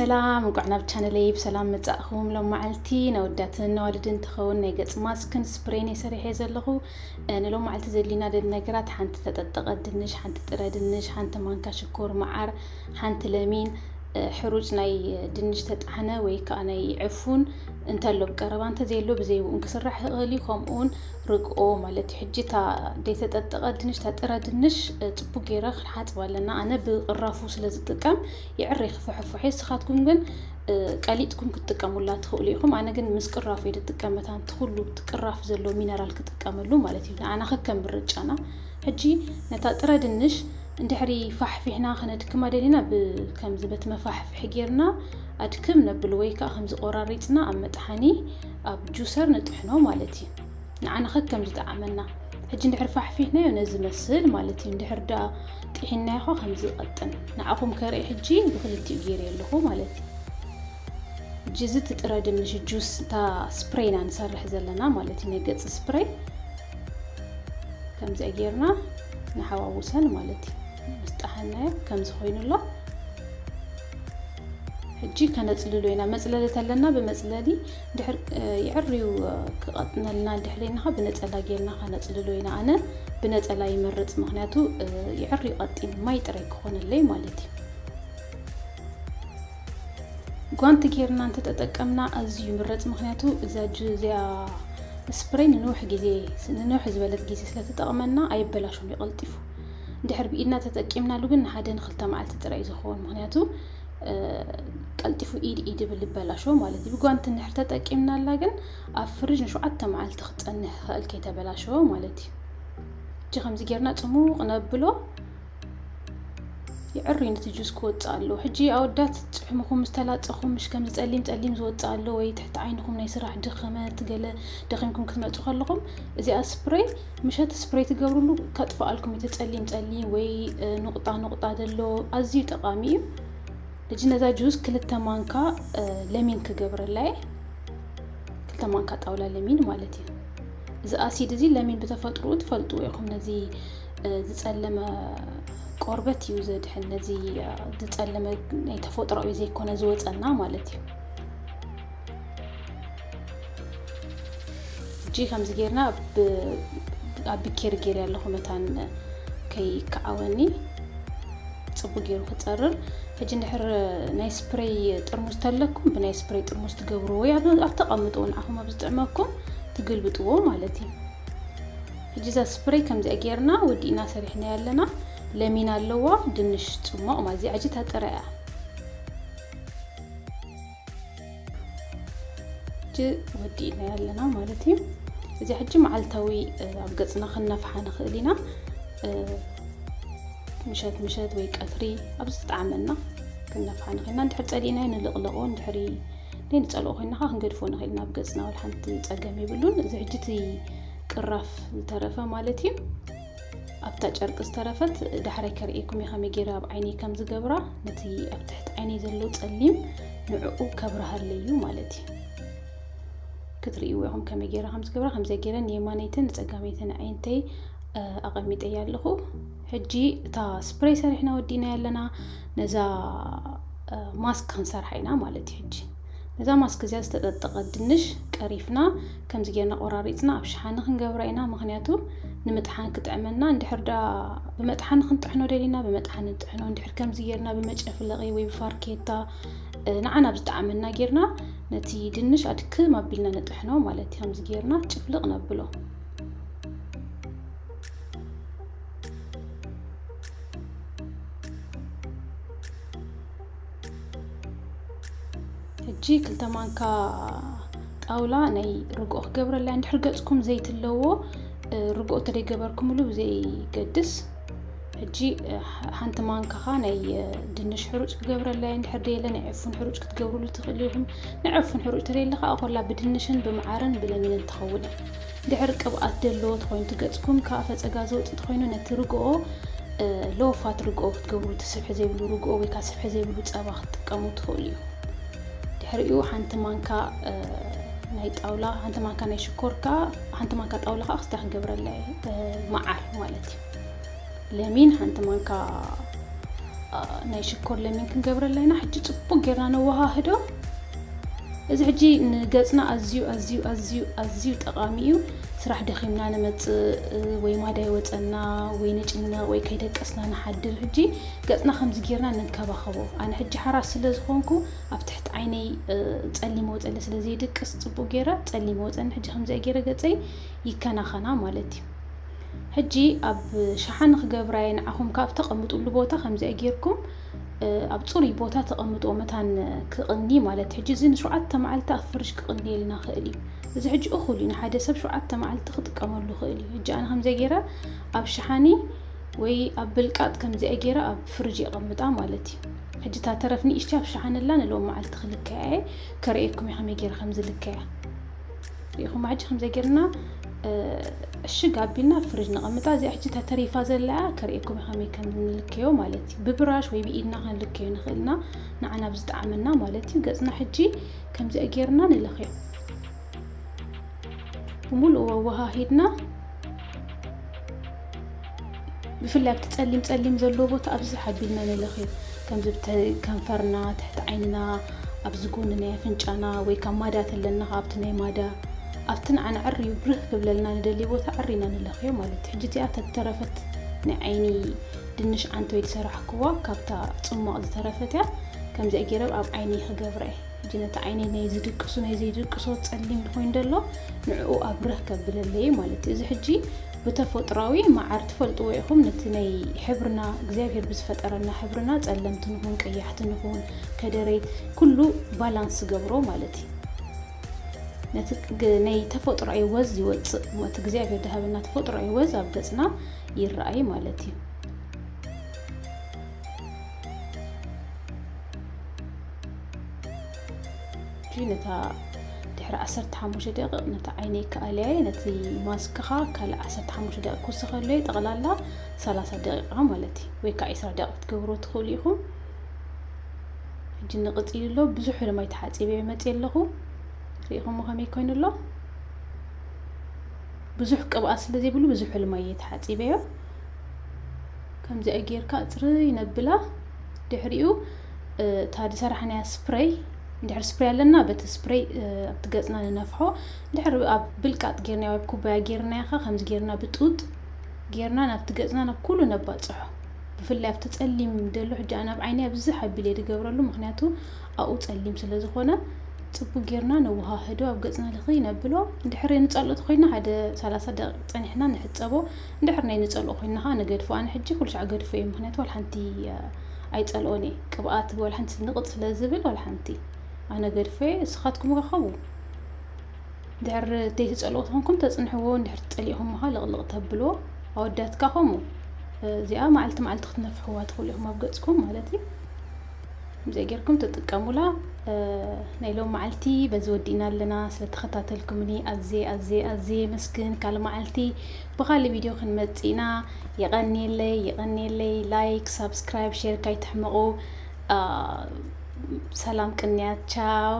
ሰላም፣ እንኳዕ ናብ ቻነለይ ብሰላም መጻእኹም። ሎም መዓልቲ ነወዳትን ነዋልድን ትኸውን ናይ ገጽ ማስክን ስፕሬን እየ ሰሪሐ ዘለኹ። እ፣ ንሎም መዓልቲ ዘድልዩና ደሊ ነገራት ሓንቲ ተጠጠቐ ድንሽ፣ ሓንቲ ጥረ ድንሽ፣ ሓንቲ ማንካ ሽኮር፣ መዓር፣ ሓንቲ ለሚን፣ እ፣ ሕሩጭ ናይ ድንሽ ተጣሕነ ወይ ከዓ ናይ ዕፉን እንተሎ ብቀረባ እንተዘየሎ ብዘይብኡን ክስራሕ ይኽእል እዩ። ከምኡውን ርግኦ ማለት እዩ። ሕጂ እታ ዘይተጠጠቐ ድንሽ፣ እታ ጥረ ድንሽ፣ እ፣ ጽቡቅ ገይረ ክንሓጽባ ኣለና። ኣነ ብቅራፉ ስለ ዝጥቀም ይዕሪ ክፍሕፍሕ እየ። ንስኻትኩም ግን፣ እ፣ ቀሊጥኩም ክትጥቀሙላ ትኽእሉ ኢኹም። ኣነ ግን ምስ ቅራፉ እየ ዝጥቀም። መታን እቲ ኩሉ እቲ ቅራፍ ዘለዎ ሚነራል ክጥቀመሉ ማለት እዩ። ንዓና ከከም ምርጫና። ሕጂ ነታ ጥረ ድንሽ እንድሕሪ ፋሕፊሕና ከነድክማ ደሊና፣ ብ-፣ ከምዚ በቲ መፋሕፍሒ ጌርና ኣድክም ነብል ወይ ከዓ ከምዚ ቆራሪጽና ኣብ መጥሓኒ ኣብ ጁሰር ንጥሕኖ ማለት እዩ። ንዓና ከከም ዝጠዓመና። ሕጂ እንድሕር ፋሕፊሕናዮ ነዚ መስል ማለት እዩ። እንድሕር ደኣ ጥሒናዮ ኸ ከምዚ ይቐጥን። ንዓኹም ከርኢ ሕጂ ብክልቲኡ ገይረ ኣለኹ ማለት እዩ። ሕጂ እዚ እቲ ጥረ ድንሽ ጁስ፣ እታ ስፕሬይ ኢና ንሰርሕ ዘለና ማለት እዩ። ናይ ገጽ ስፕሬይ ከምዚኣ ጌርና ንሓዋውሰን ማለት እዩ። ምስ ጠሓናዮ ከምዚ ኮይኑ ኣሎ። ሕጂ ከነጽልሎ ኢና። መጽለሊ ተለና ብመጽለሊ ድሕር፣ እ፣ ይዕርዩ፣ እ፣ ክቐጥነልና ድሕር ኢልናኻ ብነጸላ ጌርና ከነጽልሎ ኢና። ኣነ ብነጸላ ይመርጽ፣ ምኽንያቱ፣ እ፣ ይዕርዩ ቀጢን ማይ ጥራይ ክኾነለይ ማለት እዩ። ጓንቲ ጌርና እንተተጠቀምና ኣዝዩ ይምረጽ፣ ምኽንያቱ እዛ ጁ-፣ እዚኣ ስፕሬይ ንንውሕ ግዜ፣ ንንውሕ ዝበለት ግዜ ስለ ትጠቕመና ኣይበላሾን እዩ ቀልጢፉ። እንድሕር ብኢድና ተጠቂምናሉ ግን ንሓደ ንኽልተ መዓልቲ ጥራይ እዩ ዝኸውን፣ ምኽንያቱ፣ እ፣ ቀልጢፉ ኢድ ኢድ ይብል ይበላሾ ማለት እዩ። ብጓንቲ እንድሕር ተጠቂምናላ ግን ኣብ ፍሪጅ ንሸውዓተ መዓልቲ ክጸንሕ ይኽእል ከይተበላሸወ ማለት እዩ። እጂ ከምዚ ጌርና ጽሙቕ ነብሎ። ይዕሪ ነቲ ጁስ ክወጽእ ኣለዎ። ሕጂ ኣወዳት ጽሕምኹም ምስ ተላጸኹም፣ ምሽ ከምዚ ጸሊም ጸሊም ዝወጽእ ኣሎ ወይ ትሕቲ ዓይንኹም ናይ ስራሕ ድኸመት፣ ገለ ደኺምኩም ክትመጹ ከለኹም፣ እዚኣ ስፕሬይ፣ ምሸት ስፕሬይ ትገብርሉ፣ ከጥፍኣልኩም እዩ እቲ ጸሊም ጸሊም ወይ፣ እ፣ ኑቕጣ ኑቕጣ ዘሎ፣ ኣዝዩ ጠቓሚ እዩ። ሕጂ ነዛ ጁስ ክልተ ማንካ፣ እ፣ ለሚን ክገብረላ እየ። ክልተ ማንካ ጣውላ ለሚን ማለት እዩ። እዚ ኣሲድ እዚ ለሚን ብተፈጥሮኡ ትፈልጥዎ ኢኹም። ነዚ፣ እ፣ ዝጸለመ ቆርበት እዩ ዘድሕን። ነዚ፣ እ፣ ዝጸለመ ናይ ተፈጥሮኣዊ ዘይኮነ ዝወጸና ማለት እዩ። ሕጂ ከምዚ ጌርና ብ-፣ ኣብ ብኬር ጌርያ ኣለኹ መታን ከይከዓወኒ። ጽቡቅ ገይሩ ክጸርር። ሕጂ እንድሕር ናይ ስፕሬይ ጥርሙዝ ተለኩም፣ ብናይ ስፕሬይ ጥርሙዝ ትገብሩ ወይ ኣብ፣ ኣብ ተቐምጥዎ ንዓኹም ኣብ ዝጥዕመኩም ትግልብጥዎ ማለት እዩ። ሕጂ እዛ ስፕሬይ ከምዚኣ ጌርና ወዲእና ሰሪሕና ኣለና። ለሚን ኣለዋ፣ ድንሽ ጽሞቕ ማለት እዚኣ ሕጂ እታ ጥረ እያ። ሕጂ ወዲእና ኣለና ማለት እዩ። እዚ ሕጂ መዓልታዊ፣ እ፣ ኣብ ገጽና ክነፍሓ ንኽእል ኢና። እ፣ ምሸት ምሸት ወይ ቀትሪ ኣብ ዝጠዓመና ክነፍሓ ንኽእል ኢና። እንድሕር ጸሊእናዮ ንልቕልቖ፣ እንድሕሪ ዘይንጸልኦ ኮይንና ኸዓ ክንገድፎ ንኽእል ኢና ኣብ ገጽና፣ ወላ ሓንቲ ጸገም የብሉን። እዚ ሕጂ እቲ ቅራፍ ዝተረፈ ማለት እዩ። ኣብታ ጨርቂ ዝተረፈት ዳሕራይ ከርእየኩም እየ ከመይ ገይረ ኣብ ዓይነይ ከም ዝገብራ። ነቲ ኣብ ትሕቲ ዓይነይ ዘሎ ጸሊም ንዕኡ ከብርሃለይ እዩ ማለት እዩ። ክትርእይዎ ኢኹም ከመይ ገይረ ከም ዝገብራ። ከምዚኣ ገይረ ንየማነይትን ንጸጋመይትን ኣዒንተይ፣ እ፣ ኣቐሚጠያ ኣለኹ። ሕጂ እታ ስፕሬይ ሰሪሕና ወዲእናያ ኣለና። ነዛ፣ እ፣ ማስክ ክንሰርሓ ኢና ማለት እዩ። ሕጂ ነዛ ማስክ እዚኣ ዝተጠጠቐ ድንሽ ቀሪፍና ከምዚ ጌርና ቆራሪጽና ኣብ ሸሓኒ ክንገብራ ኢና። ምኽንያቱ ንምጥሓን ክጥዕመና። እንድሕር ደኣ ብመጥሓኒ ክንጥሕኖ ደሊና ብመጥሓኒ ንጥሕኖ። እንድሕር ከምዚ ጌርና ብመጨፍለቒ ወይ ብፋርኬታ፣ እ፣ ንዓና ብዝጠዓመና ጌርና ነቲ ድንሽ ኣድክም ኣቢልና ንጥሕኖ ማለት እዩ። ከምዚ ጌርና ጭፍልቕ ነብሎ። ሕጂ ክልተ ማንካ ጣውላ ናይ ርግኦ ክገብረላ። እንድሕር ገጽኩም ዘይቲ ኣለዎ፣ እ፣ ርግኦ ተደይገበርኩምሉ ብዘይገድስ። ሕጂ፣ እ፣ ሓ-፣ ሓንቲ ማንካ ኸኣ ናይ፣ እ፣ ድንሽ ሕሩጭ ክገብረላ። እንድሕር ደየለ ናይ ዕፉን ሕሩጭ ክትገብሩሉ ትኽእሉ ኢኹም። ናይ ዕፉን ሕሩጭ ተደየለ ኸኣ ኮላ ብድንሽን ብመዓርን ብለሚንን ትኸውን እያ። ድሕር ቅብኣት ዘለዎ ተኾይኑ፣ እቲ ገጽኩም ካብ ፈጸጋ ዘውጽእ ተኾይኑ፣ ነቲ ርግኦ፣ እ፣ ሎፋት ርግኦ ክትገብሩ፣ እቲ ስብሒ ዘይብሉ ርግኦ ወይ ከኣ ስብሒ ዘይብሉ ጸባ ክትጥቀሙ ትኽእሉ ኢኹም። ድሕሪኡ ሓንቲ ማንካ፣ እ፣ ናይ ጣውላ፣ ሓንቲ ማንካ ናይ ሽኮር ከኣ፣ ሓንቲ ማንካ ጣውላ ከኣ ክስታይ ክገብረላ እየ፣ እ፣ መዓር ማለት እዩ። ለሚን ሓንቲ ማንካ ናይ ሽኮር ለሚን ክንገብረላ ኢና። ሕጂ ጽቡቅ ጌርና ነወሃህዶ። እዚ ሕጂ ንገጽና ኣዝዩ ኣዝዩ ኣዝዩ ኣዝዩ ጠቓሚ እዩ። ስራሕ ደኺምና ንመጽእ ወይ ማዳ ይወጸና ወይ ንጭነቕ ወይ ከይደቀስና ንሓድር። ሕጂ ገጽና ከምዚ ጌርና ንንከባኸቦ። ኣነ ሕጂ ሓራስ ስለ ዝኾንኩ ኣብ ትሕቲ ዓይነይ ጸሊም ወጸለ ስለ ዘይድቅስ ጽቡቅ ጌረ ጸሊም ወጸኒ። ሕጂ ከምዚ ጌረ ገጸይ ይከናኸና ማለት እዩ። ሕጂ ኣብ ሸሓኒ ክገብራየ ንዓኹም ካብ ተቐምጡሉ ቦታ ከምዚኣ ጌርኩም ኣብ ጽሩይ ቦታ ተቐምጥዎ መታን ክቕኒ ማለት። ሕጂ እዚ ንሸውዓተ መዓልቲ ኣብ ፍርጅ ክቕንየልና ክእል እዩ። እዚ ሕጂ እኹል እዩ፣ ንሓደ ሰብ ሸውዓተ መዓልቲ ክጥቀመሉ ክእል እዩ። ሕጂ ኣነ ከምዚኣ ጌረ ኣብ ሸሓኒ ወይ ኣብ ብልቃጥ ከምዚኣ ጌረ ኣብ ፍርጅ የቐምጣ ማለት እዩ። ሕጂ እታ ተረፍ ንእሽቲ ኣብ ሸሓኒ ኣላ ንሎም መዓልቲ ክልከያ እየ፣ ከርእየኩም እየ ከመይ ጌረ ከም ዝልከያ። ሪኢኹም ሕጂ ከምዚ ጌርና እሽግ ኣቢልና ፍርጅ ነቐምጣ። እዚኣ ሕጂ እታ ተሪፋ ዘላ ከርእየኩም እየ ከመይ ከም ንልከዮ ማለት እዩ። ብብራሽ ወይ ብኢድና ክንልከዮ ንኽእልና ንዓና ብዝጠዓመና ማለት እዩ። ገጽና ሕጂ ከምዚኣ ጌርና ንለኽዮ። ብምሉእ ወወሃሂድና ብፍላይ ኣብቲ ጸሊም ጸሊም ዘለዎ ቦታ ኣብዚ ሓቢልና ንለኽዮ። ከምዚ ብተ-፣ ከንፈርና፣ ትሕቲ ዓይንና፣ ኣብዚ ጎኒ ናይ ኣፍንጫና ወይ ካብ ማዳ ተለና ኣብቲ ናይ ማዳ ኣብቲ ንዓና ዕርዩ ብርህ ክብለልና ንደልዮ ቦታ ዕሪና ንለኽዮ ማለት እዩ። ሕጂ እዚኣ ተተረፈት ናይ ዓይኒ ድንሽ ዓንተ ወይ ዝሰራሕክዋ ካብታ ጽሟቕ ዝተረፈት እያ። ከምዚኣ ገይረ ኣብ ዓይኒ ክገብራ እየ። ሕጂ ነቲ ዓይኒ ናይ ዝድቅሱ ናይ ዘይድቅሶ ጸሊም ዝኾይኑ ደሎ ንዕኡ ኣብርህ ከብለለይ ማለት እዩ። እዚ ሕጂ ብተፈጥሯዊ መዓር ትፈልጥዎ ኢኹም። ነቲ ናይ ሕብርና እግዚኣብሔር ብዝፈጠረና ሕብርና ጸለምቲ ንኹን ቀያሕቲ ንኹን ከደረይ ኩሉ ባላንስ ገብሮ ማለት እዩ። ነቲ ግ-፣ ናይ ተፈጥሮኣዊ ወዝ ይወጽእ፣ እቲ እግዚኣብሔር ዝሃበና ተፈጥሮኣዊ ወዝ ኣብ ገጽና ይረኣይ ማለት እዩ። ሕጂ ነታ ድሕሪ ዓሰርተ ሓሙሽተ ደቂቕ ነታ ዓይነይ ከኣልያየ፣ ነቲ ማስክኻ ካልእ ዓሰርተ ሓሙሽተ ደቂቕ ክውስኸለይ፣ ጠቕላላ ሰላሳ ደቂቓ ማለት እዩ። ወይ ከዓ ዕስራ ደቂቕ ክትገብሮ ትኽእሉ ኢኹም። ሕጂ ንቕጺል ኣሎ። ብዙሕ ሕልማይ ተሓጺበ መጽእ ኣለኹ። ርኢኹሞ ከመይ ኮይኑ ኣሎ? ብዙሕ ቅብኣት ስለ ዘይብሉ ብዙሕ ሕልማይ እየ ተሓጺበዮ። ከምዚኣ ጌርካ ጽርይ ነብላ። ድሕሪኡ፣ እ፣ እታ ዝሰራሕናያ ስፕሬይ፣ እንድሕር ስፕሬይ ኣለና፣ በቲ ስፕሬይ፣ እ፣ ኣብቲ ገጽና ንነፍሖ። እንድሕር ኣብ ብልቃጥ ጌርናዮ፣ ኣብ ኩባያ ጌርናዮ ኸ፣ ከምዚ ጌርና ብጡጥ ጌርና ናብቲ ገጽና ናብ ኩሉ ነባጽሖ። ብፍላይ ኣብቲ ጸሊም ደሎ፣ ሕጂ ኣነ ኣብ ዓይነይ ኣብዝሕ ኣቢለ ዝገብረሉ፣ ምኽንያቱ ኣብኡ ጸሊም ስለ ዝኾነ፣ ጽቡቅ ጌርና ነወሃህዶ፣ ኣብ ገጽና ልኽይ ነብሎ። እንድሕር ንጸልኦ ተኾይንና ሓደ ሰላሳ ደቂቕ ጸኒሕና ንሕጸቦ። እንድሕር ናይ ንጸልኦ ኮይንና ኸኣ ንገድፎ። ኣነ ሕጂ ኩሉ ሻዕ ገድፎ እየ፣ ምኽንያቱ ዋላ ሓንቲ፣ እ፣ ኣይጸልኦን እየ። ቅብኣት ዋላ ሓንቲ ንቕጽ ስለ ዝብል ዋላ ሓንቲ ኣነ ገድፎ እየ። ንስኻትኩም ከ ከምኡ? እንድሕር ዘይትጸልኦ ተኾንኩም ተጽንሕዎ፣ እንድሕር ትጸሊእኹም ምኻ ልቕልቕ ተብልዎ። ኣወዳትካ ከምኡ። እዚኣ መዓልቲ መዓልቲ ክትነፍሕዋ ትኽእሉ ኢኹም ኣብ ገጽኩም ማለት እዩ። ከምዚኣ ጌርኩም ትጥቀሙላ። እ፣ ናይ ሎም መዓልቲ በዚ ወዲእና ኣለና። ስለ ተኸታተልኩምኒ ኣዝየ፣ ኣዝየ፣ ኣዝየ የመስግን። ካልእ መዓልቲ ብኻልእ ቪድዮ ክንመጽእ ኢና። የቐንየለይ፣ የቐንየለይ። ላይክ፣ ሳብስክራይብ፣ ሼር ካይትሕመቑ። አ፣ ሰላም ቅንያት። ቻው።